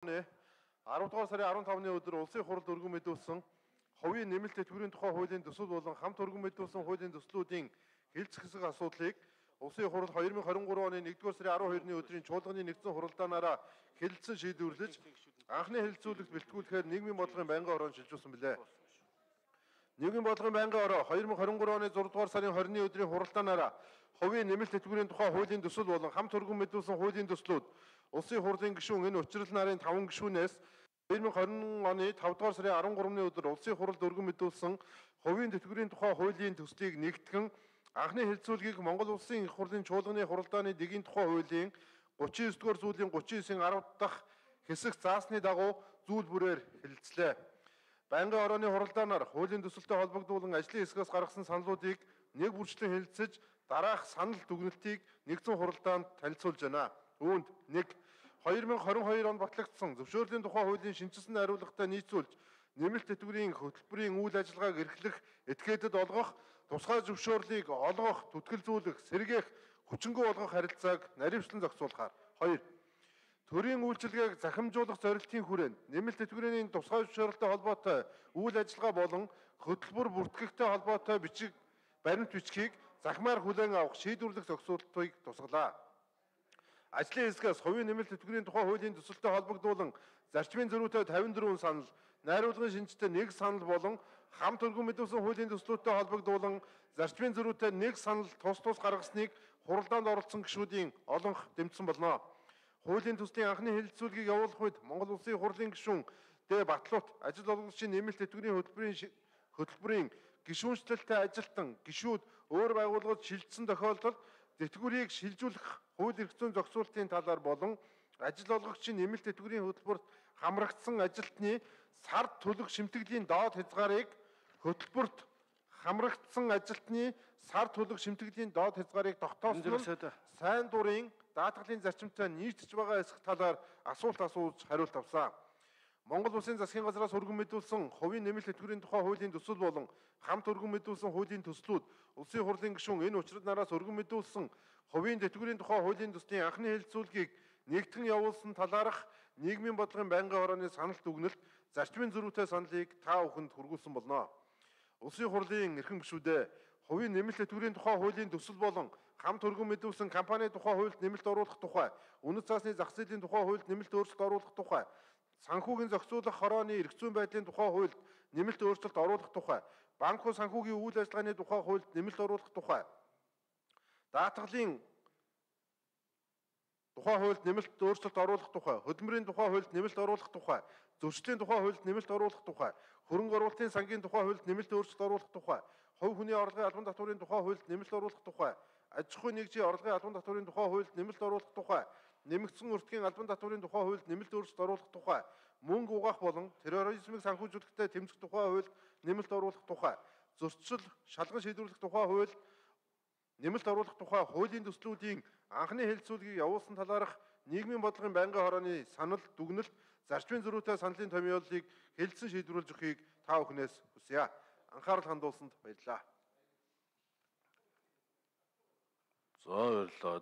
10 дугаар сарын 15-ны өдөр улсын хуралд өргөн мэдүүлсэн хувийн нэмэлт тэтгэврийн тухай хуулийн төсөл болон хамт өргөн мэдүүлсэн хуулийн төслүүдийн хэлцэх хэсэг асуудлыг улсын хурал 2023 оны 1-р сарын 12-ны өдрийн чуулганы нэгдсэн хуралдаанаараа хэлэлцэн шийдвэрлэж анхны хэлэлцүүлэгт бэлтгүүлэхээр нийгмийн бодлогын байнгын орон шилжүүлсэн билээ. Нийгмийн бодлогын байнгын ороо 2023 оны 6 дугаар сарын 20-ны өдрийн хуралдаанаараа хувийн нэмэлт тэтгэврийн тухай хуулийн төсөл болон хамт өргөн мэдүүлсэн хуулийн төслүүд улсын хурлын гишүүн энэ учрал нарын 5 гишүүнээс 2020 оны 5 дугаар сарын 13-ны өдөр улсын хуралд өргөн мэдүүлсэн хувийн тэтгэврийн тухай хуулийн төслийг нэгтгэн анхны хэлэлцүүлгийг Монгол Улсын их хурлын чуулганы хуралдааны дэгийн тухай хуулийн 39-р зүйлийн 39-ийн 10 дахь хэсэг заасны дагуу зүйл бүрээр хэлэлцлээ. Байнгын орооны хуралдаанаар хуулийн төсөлтэй холбогдуулан ажлын хэсгээс гаргасан саналуудыг нэг бүрчлэн хэлэлцэж дараах санал дүгнэлтийг нэгдсэн хуралдаанд танилцуулж байна. Үүнд 1. 2022 он батлагдсан зөвшөөрлийн тухай хуулийн шинжилсэн хариуцлагатай нийцүүлж нэмэлт тэтгэврийн хөтөлбөрийн үйл ажиллагааг эрхлэх, этгээдэд олгох, тусгай зөвшөөрлийг олгох, түтгэлзүүлэх, сэргээх, хүчингү болгох харилцааг наривчлан зохицуулахаар. 2. Төрийн үйлчилгээг захимжуулах зорилтын хүрээнд нэмэлт тэтгэврийн тусгай зөвшөөрлөлтэй холбоотой үйл ажиллагаа болон хөтөлбөр бүртгэгтэй холбоотой баримт бичгийг захимаар хүлээн авах шийдвэрлэх зохицуултыг тусгалаа. Ажлын хэсгээс хувийн нэмэлт тэтгэврийн тухай хуулийн төсөлтэй холбогдуулан зарчмын зөрүүтэй 54 санал, найруулгын шинжтэй 1 санал болон хамт өргөн мэдүүлсэн хуулийн төслүүдтэй холбогдуулан зарчмын зөрүүтэй 1 санал тус гаргасныг хуралдаанд оролцсон гишүүдийн олонх дэмжсэн болно. Хуулийн төслийн анхны хэлэлцүүлгийг явуулах үед Монгол Улсын хурлын гишүүн Д. Батлуут ажил олгогчийн нэмэлт тэтгэврийн хөтөлбөрийн гишүүнчлэлтэй ажилтан гишүүд өөр байгууллагад шилжсэн тохиолдолд тэтгэврийг шилжүүлэх хууль эрх зүйн зохицуулалтын талаар болон ажил олгогчийн нэмэлт тэтгэврийн хөтөлбөрт хамрагдсан ажилтны сард төлөх шимтгэлийн доод хязгаарыг хөтөлбөрт хамрагдсан ажилтны сард төлөх шимтгэлийн доод хязгаарыг тогтоосон нь сайн дурын даатгалын зарчимтай нийцж байгаа эсэх талаар асуулт асууж хариулт авсан. Монгол Улсын засгийн газраас өргөн мэдүүлсэн хувийн нэмэлт тэтгэврийн тухай хуулийн төсөл болон хамт өргөн мэдүүлсэн хуулийн төслүүд улсын хурлын гишүүн энэ учрал нараас өргөн мэдүүлсэн хувийн тэтгэврийн тухай хуулийн төслийн анхны хэлэлцүүлгийг нэгтгэн явуулсан талаарх нийгмийн бодлогын байнгын орооны санал дүгнэлт зарчмын зөрүүтэй саналыг та бүхэнд хүргүүлсэн болно. Улсын хурлын эрхэм гишүүдээ хувийн нэмэлт тэтгэврийн тухай хуулийн төсөл болон хамт өргөн мэдүүлсэн компани тухай хуульд нэмэлт оруулах тухай, үнэт цаасны зах зээлийн тухай хуульд нэмэлт өөрчлөлт оруулах тухай, санхүүгийн зохицуулах хорооны эрх зүйн байдлын тухай хуульд нэмэлт өөрчлөлт оруулах тухай, банк хуу санхүүгийн үйл ажиллагааны тухай хуульд нэмэлт оруулах тухай, даатгалын тухай хуульд нэмэлт өөрчлөлт оруулах тухай, хөдөлмөрийн тухай хуульд нэмэлт оруулах тухай, зөрчлийн тухай хуульд нэмэлт оруулах тухай, хөрөнгө оруулалтын сангийн тухай хуульд нэмэлт өөрчлөлт оруулах тухай, хувь хүний орлогын албан татварын тухай хуульд нэмэлт оруулах тухай, аж ахуйн нэгжийн орлогын албан татварын тухай хуульд нэмэлт оруулах тухай, нэмэгдсэн өртгийн албан татварын тухай хуульд нэмэлт өөрчлөлт оруулах тухай, мөнгө угаах болон терроризмыг санхүүжүүлэхдээ тэмцэх тухай хуульд нэмэлт оруулах тухай, зөрчил шалган шийдвэрлэх тухай хуульд нэмэлт оруулах тухай хуулийн төслүүдийн анхны хэлэлцүүлгийг явуулсан талаарх нийгмийн бодлогын байнгын хорооны санал дүгнэлт зарчмын зөрүүтэй саналын томьёолыг хэлэлцэн шийдвэрлэж өгөхийг та бүхнээс хүсье. Анхаарал хандуулсанд баярлалаа. За баярлалаа.